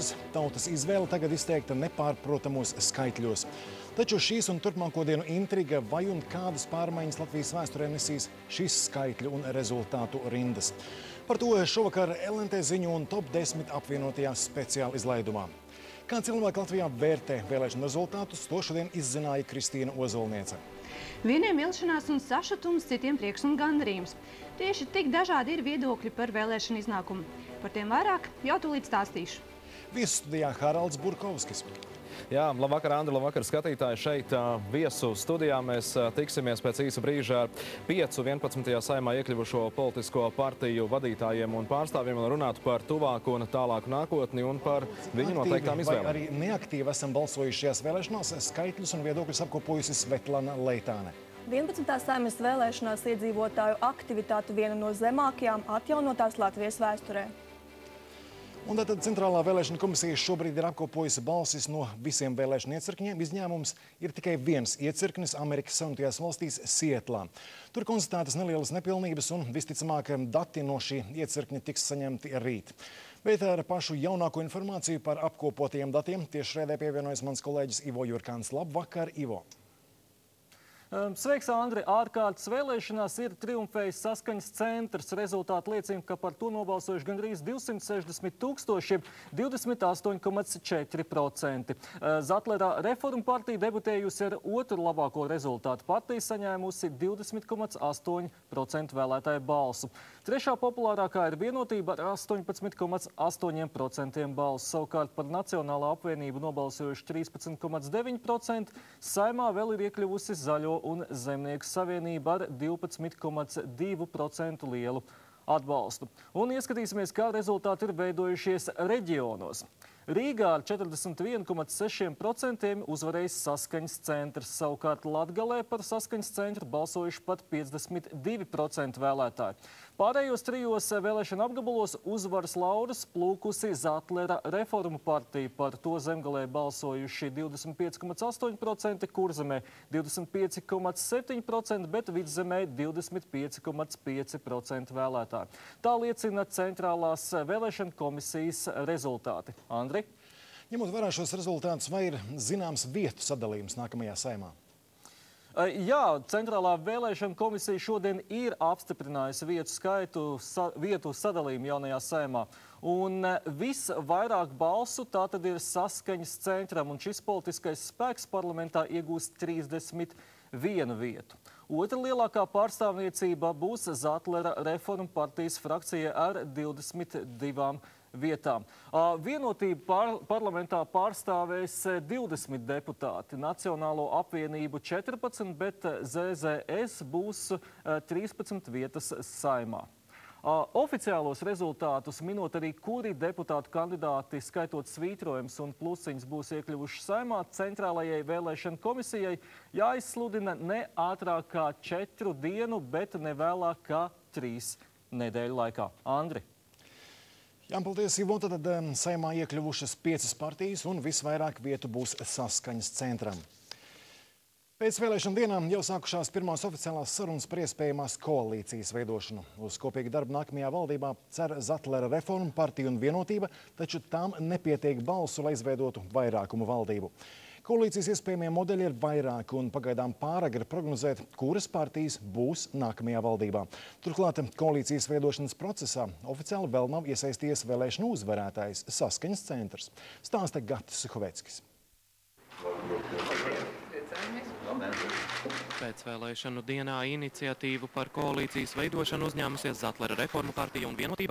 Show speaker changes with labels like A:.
A: puses tautas izvēle tagad izteikta nepārprotamos skaitļos. Taču šīs un turpmāko dienu intriga, vai un kādas pārmaiņas Latvijas vēsturē nesīs šis skaitļu un rezultātu rindas. Par to šovakar LNT ziņu un top 10 apvienotajā speciāla izlaidumā. Kā cilvēki Latvijā vērtē vēlēšanu rezultātus, to šodien izzināja Kristīna Ozolniece.
B: Vieniem vilšanās un sašutums, citiem prieks un gandarījums. Tieši tik dažādi ir viedokļi par vēlēšanu iznākumu. Par tiem vairāk jau tūlīt stāstīšu.
A: Viesu studijā Haralds Burkovskis.
C: Jā, labvakar, Andri, labvakar, skatītāji. Šeit viesu studijā mēs tiksimies pēc īsa brīža ar 5 11. saimā iekļuvušo politisko partiju vadītājiem un pārstāvjiem, un runātu par tuvāku un tālāku nākotni un par viņu noteiktām izvēlēm.
A: Vai arī neaktīvi esam balsojuši šajās vēlēšanās, skaitļus un viedokļus apkopojusi Svetlana Leitāne.
D: 11. saimas vēlēšanās iedzīvotāju aktivitāte viena no zemākajām atjaunotās Latvijas vēsturē.
A: Un tātad Centrālā vēlēšana komisija šobrīd ir apkopojusi balsis no visiem vēlēšanu iecirkņiem. Izņēmums ir tikai viens iecirknis Amerikas Savienotajās valstīs Sietlā. Tur konstatētas nelielas nepilnības un visticamāk dati no šī iecirkņa tiks saņemti rīt. Bet ar pašu jaunāko informāciju par apkopotajiem datiem tieši šodien pievienojas mans kolēģis Ivo Jurkāns. Labvakar, Ivo!
E: Sveiks, Andri! Ārkārtas vēlēšanās ir triumfējis Saskaņas centrs. Rezultāti liecina, ka par to nobalsojuši gandrīz 260 000, 28,4%. Zatlera reformu partija debutējusi ar otru labāko rezultātu. Partija saņēmusi 20,8% vēlētāju balsu. Trešā populārākā ir Vienotība ar 18,8% balsu. Savukārt par Nacionālo apvienību nobalsojuši 13,9%. Saimā vēl ir iekļuvusi Zaļo un Zemnieku savienība ar 12,2% lielu atbalstu. Un ieskatīsimies, kā rezultāti ir veidojušies reģionos. Rīgā ar 41,6% uzvarējis Saskaņas centrs. Savukārt Latgalē par Saskaņas centru balsojuši pat 52% vēlētāji. Pārējos trijos vēlēšana apgabalos uzvaras laurus plūkusi Zatlera reformu partija. Par to Zemgalē balsojuši 25,8%, Kurzemē 25,7%, bet Vidzemē 25,5% vēlētāji. Tā liecina Centrālās vēlēšana komisijas rezultāti. Andri?
A: Ņemot vērā šos rezultātus, vai ir zināms vietu sadalījums nākamajā saimā?
E: Jā, Centrālā vēlēšana komisija šodien ir apstiprinājusi vietu sadalījumu jaunajā saimā. Un visvairāk balsu tātad ir Saskaņas centram, un šis politiskais spēks parlamentā iegūst 31 vietu. Otra lielākā pārstāvniecība būs Zatlera reformu partijas frakcija ar 22 vietām. Vienotība parlamentā pārstāvēs 20 deputāti, Nacionālo apvienību 14, bet ZZS būs 13 vietas saimā. Oficiālos rezultātus minot arī, kuri deputātu kandidāti, skaitot svītrojums un plusiņus, būs iekļuvuši saimā, Centrālajai vēlēšana komisijai jāizsludina ne ātrāk kā 4 dienu, bet ne vēlāk kā 3 nedēļu laikā. Andri?
A: Jā, paldies, Ivo. Tad saimā iekļuvušas 5 partijas un visvairāk vietu būs Saskaņas centram. Pēc vēlēšana dienām jau sākušās pirmās oficiālās sarunas par iespējamās koalīcijas veidošanu. Uz kopīgu darbu nākamajā valdībā cer Zatlera reformu partija un Vienotība, taču tām nepietiek balsu, lai izveidotu vairākumu valdību. Koalīcijas iespējamie modeļi ir vairāki un pagaidām pāragri prognozēt, kuras partijas būs nākamajā valdībā. Turklāt koalīcijas veidošanas procesā oficiāli vēl nav iesaistījies vēlēšanu uzvarētājs Saskaņas centrs. Stāsta Gatis Suhoveckis.
F: Pēc vēlēšanu dienā iniciatīvu par koalīcijas veidošanu uzņēmusies Zatlera reformu partija un Vienotība.